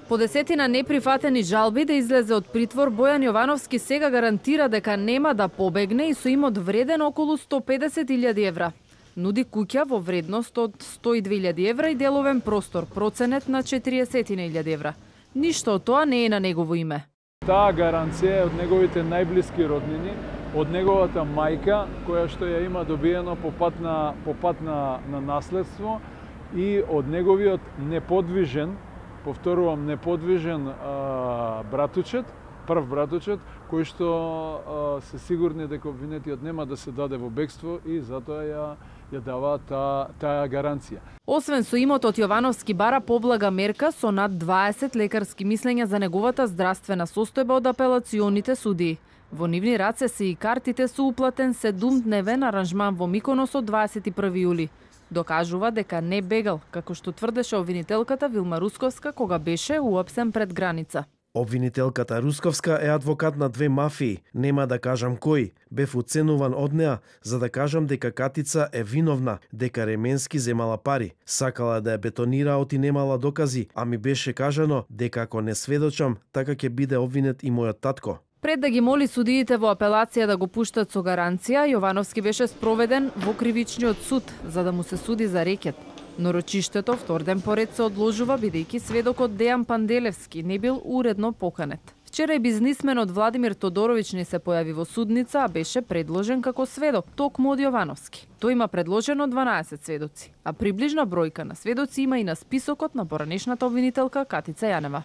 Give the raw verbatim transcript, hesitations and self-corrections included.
По десетина неприфатени жалби да излезе од притвор, Бојан Јовановски сега гарантира дека нема да побегне и со имот вреден околу сто и педесет илјади евра. Нуди куќа во вредност од сто и две илјади евра и деловен простор, проценет на четириесет илјади евра. Ништо од тоа не е на негово име. Таа гаранција е од неговите најблиски роднини, од неговата мајка, која што ја има добиено по пат на, по пат на, на наследство, и од неговиот неподвижен, повторувам, неподвижен а, братучет, прв братучет, кој што а, се сигурни дека обвинетиот нема да се даде во бегство и затоа ја, ја дава таа, таа гаранција. Освен со имотот, Јовановски бара поблага мерка со над дваесет лекарски мислења за неговата здравствена состојба од апелационите судии. Во нивни раце се и картите со уплатен седумдневен аранжман во Миконос од дваесет и први јули. Докажува дека не бегал, како што тврдеше обвинителката Вилма Русковска кога беше уапсен пред граница. Обвинителката Русковска е адвокат на две мафии, нема да кажам кој. Бев уценуван од неа за да кажам дека Катица е виновна, дека Ременски земала пари. Сакала да ја бетонира, оти немала докази, а ми беше кажано дека ако не сведочам, така ќе биде обвинет и мојот татко. Пред да ги моли судиите во апелација да го пуштат со гаранција, Јовановски беше спроведен во кривичниот суд за да му се суди за рекет. Но рочиштето втор ден поред се одложува бидејќи сведокот Дејан Панделевски не бил уредно поканет. Вчера и бизнисменот Владимир Тодоровиќ не се појави во судница, а беше предложен како сведок, токму од Јовановски. Тој има предложено дванаесет сведоци, а приближна бројка на сведоци има и на списокот на поранешната обвинителка Катица Јанева.